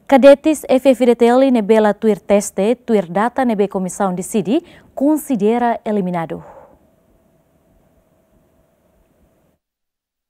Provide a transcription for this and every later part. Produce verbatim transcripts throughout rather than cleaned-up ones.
Kadetes F-FDTL ne'ebé la tuir teste, tuir data ne'ebé komisaun deside, konsidera eliminadu.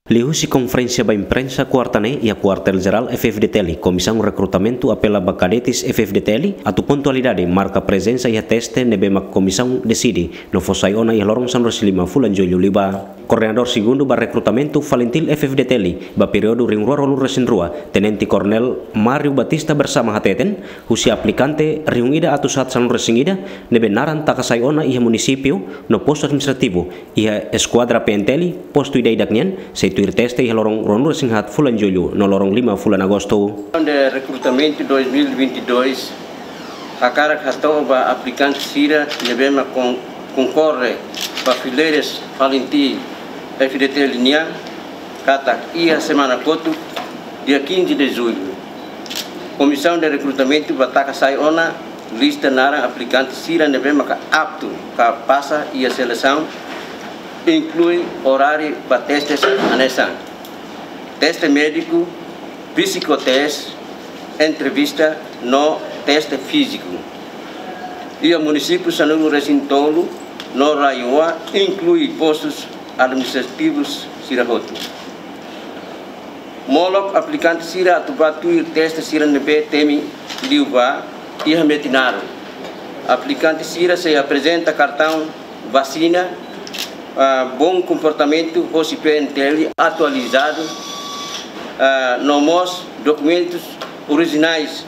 Liuhusi konferénsia ba imprensa kuarta ne'e iha Kuartél Jerál F-FDTL, Komisaun Rekrutamentu apela ba kadetes F-FDTL atu pontualidade, marka prezensa iha teste ne'ebé mak komisaun deside no fó sai ona iha loron sanulu-resin-lima fulan Jullu liubá. Koordenadór Segundu ba Rekrutamentu Falintil F-FDTL ba períodu rihun rua ruanulu-resin-rua, Tenente Koronél Mário Batista Bersama hateten, husi aplikante rihun ida atus haat sanulu-resin-ida ne'ebé naran taka sai ona iha munisípiu no postu administrativu iha Eskuadra P N T L, postu ida-idak nian, sei tuir teste iha loron ruanulu-resin-haat fulan Jullu no loron lima fulan Agostu. De rekrutamentu dois mil e vinte e dois, hakarak hato'o ba aplikante sira ne'ebé mak kon-, konkorre ba fileiras Falintil F-FDTL nian, katak iha semana kotuk, dia quinze de julho, Komisaun de Rekrutamentu bá taka sai ona lista naran aplikante sira ne'ebé maka aptu ka pasa iha selesaun, inklui oráriu ba testes hanesan teste médiku, psikoteste, entrevista no teste fíziku. Iha munisípiu sanulu-resin-tolu no RAEOA, inklui postus administrativus sira hotu. Molok aplikante sira atu bá tuir teste sira ne'ebé temi liubá iha Metinaro. Aplikante sira sei aprezenta kartaun vasina, ah, bom komportamentu hosi P N T L atualizadu, ah, no mós dokumentus orijinais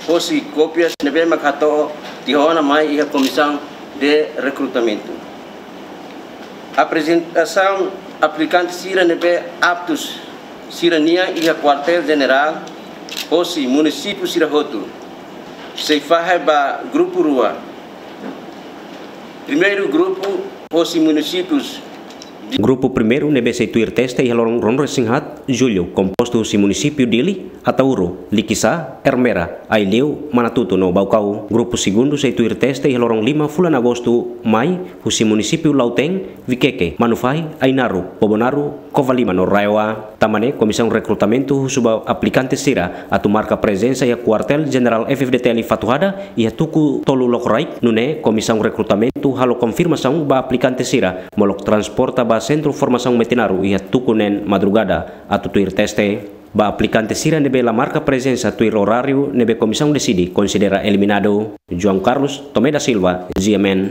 hosi kópias ne'ebé mak hato'o tiha ona mai iha Komisaun de Rekrutamentu. Aprezentasaun aplikante sira ne'ebé aptus sira-nian iha Kuartél Jenerál hosi munisípiu sira hotu sei fahe ba grupu rua. Primeiru grupu hosi munisípius. Grupu primeiru ne'ebé sei tuir teste iha loron ruanulu-resin-haat Jullu, kompostu husi munisípiu Dili, Ataúro, Likisá, Ermera, Aileu, Manatuto no Baucau. Grupu segundu sei tuir teste iha loron lima fulan Agostu, mai, husi munisípiu Lautém, Viqueque, Manufahi, Ainaro, Bobonaro, Covalima no RAEOA. Tanba ne'e, Komisaun Rekrutamentu husu ba aplikante sira atu marka prezensa iha Kuartél Jenerál F-FDTL Fatuhada iha tuku tolu Lokoraik, nune'e Komisaun Rekrutamentu halo konfirmasaun ba aplikante sira molok transporta ba Sentru Formasaun Metinaro iha tuku neen madrugada atu tuir teste. Ba aplikante sira ne'ebé la marka prezensa tuir oráriu ne'ebé komisaun deside, konsidera eliminadu. João Carlos Tomé da Silva, G M N.